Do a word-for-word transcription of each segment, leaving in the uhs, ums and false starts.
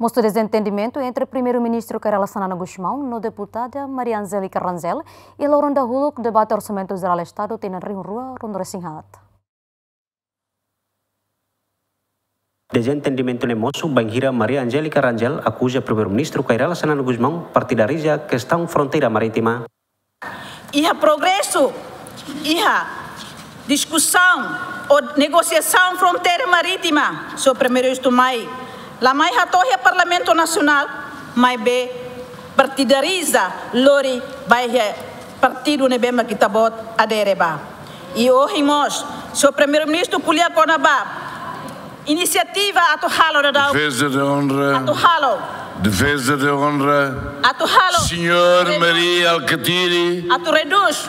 Supostu dezentendimentu entre Primeiru-Ministru Kay Rala Xanana Gusmão no Deputada Maria Angélica Rangel iha loron dahuluk debate Orsamentu Jerál Estadu tinan rihun rua ruanulu-resin-haat. Dezentendimentu ne'e mosu bainhira Maria Angélica Rangel akuza Primeiru-Ministru Kay Rala Xanana Gusmão partidariza kestaun fronteira marítima. Iha progresu, iha diskusaun ou negosiasaun fronteira marítima, Señór Primeiru-Ministru mai, la mai hato'o iha Parlamentu Nasionál, maibé partidariza lori ba iha partidu ne'ebé mak ita-boot adere ba. I ohin mós, Señór Primeiru-Ministru ko'alia kona-ba inisiativa atu halo daudaun. Defesa de honra. Atu halo. Defesa de honra. Atu halo. Señór Mari Alkatiri. Atu redús.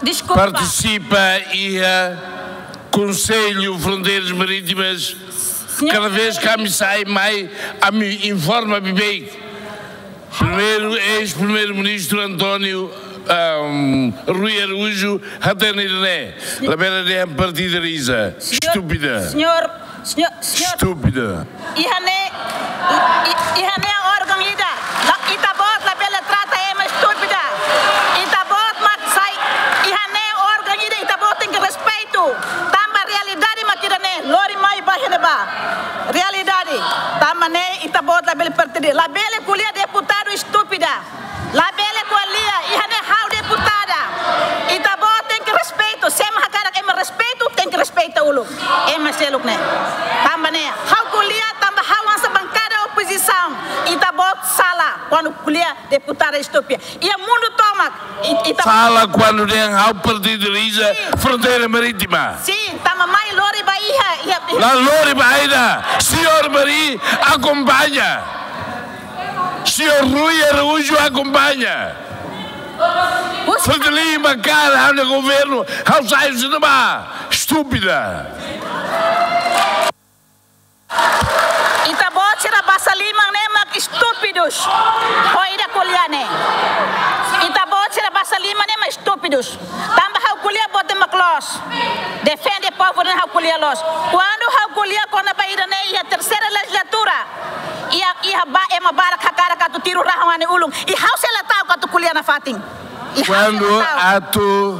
Deskulpa. Partisipa iha Konsellu Fronteiras Marítimas. Señór. Kada vez ke ami sai mai, ami informa beibeik. Primeiru, eis-Primeiru-Ministru António, ahm, Rui Araújo, hatene ne'e. Labele dehan partidariza. Señór, estúpida. Señór, señór, señór. Estúpida. Iha ne'e, i-, iha ne'e órgaun ida. La, ita-boot labele trata ema estúpida. Ita-boot mak sai. Iha ne'e órgaun ida, ita-boot tenke respeitu. Tanba realidade mak ida-ne'e. Lori mai ba iha ne'ebá. Realidade. Tanba ne'e ita-boot labele partida. Labele ko'alia deputadu estúpida. Labele ko'alia, iha ne'e ha'u deputada. Ita-boot tenke respeitu, se ema hakarak ema respeitu, tenke respeita uluk ema seluk ne'e. Tanba ne'e, ha'u ko'alia, tanba ha'u hanesan bankada opozisaun. Ita-boot sala, kuandu ko'alia deputada estúpida. Iha mundu tomak, i-, ita- Sala kuandu dehan ha'u partidariza fronteira marítima. Sin, tanba mai lori ba iha, iha, iha. La lori ba ida, Señór Mari akompaña. Señór Rui Araújo akompaña. Fretilin bankada ha'u-nia governu, ha'u sai husi ne'ebá. Estúpida. Ita-boot sira basa liman ne'e mak estúpidus. Ho ida ko'alia ne'e. Ita-boot sira basa liman ne'e mak estúpidus. Tanba ha'u ko'alia boot ne'e mak loos. Defende povu ne'e ha'u ko'alia loos. Kuandu ha'u ko'alia kona-ba ida-ne'e iha terseira lejizlatura. Iha, iha ba, ema barak hakarak atu tiru rahun ha'u-nia ulun. I ha'u sei la ta'uk atu ko'alia nafatin. I ha'u sei la ta'uk. Kuandu atu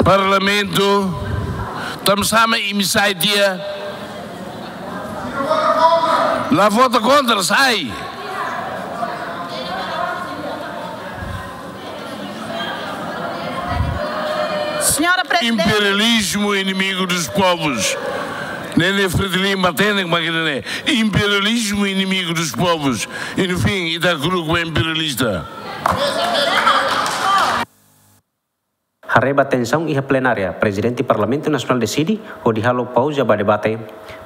Parlamentu, tanba sá mak imi sai tiha. La vota kontra, sai. Señora Presidente. Imperialismo inimigo dos povos. Ne'e, ne'e Fretilin matenek mak ne'e. Imperialismo inimigo dos povos. E no fim, ita hakerek ba imperialista. Haree ba tensaun iha plenária, Prezidente Parlamentu Nasionál deside hodi halo pauza ba debate.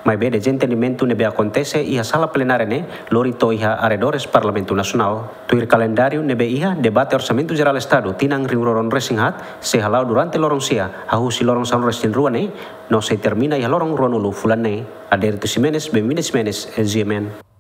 Maibé dezentendimentu ne'ebé akontese iha sala plenária ne'e lori to'o iha arredores Parlamentu Nasionál. Tuir kalendáriu ne'ebé iha, debate Orsamentu Jerál Estadu tinan rihun rua ruanulu-resin-haat sei hala'o durante loron sia, hahú husi loron sanulu-resin-rua ne'e, no sei termina iha loron ruanulu fulan ne'e. Adérito Ximenes, Benvinda Ximenes, G M N.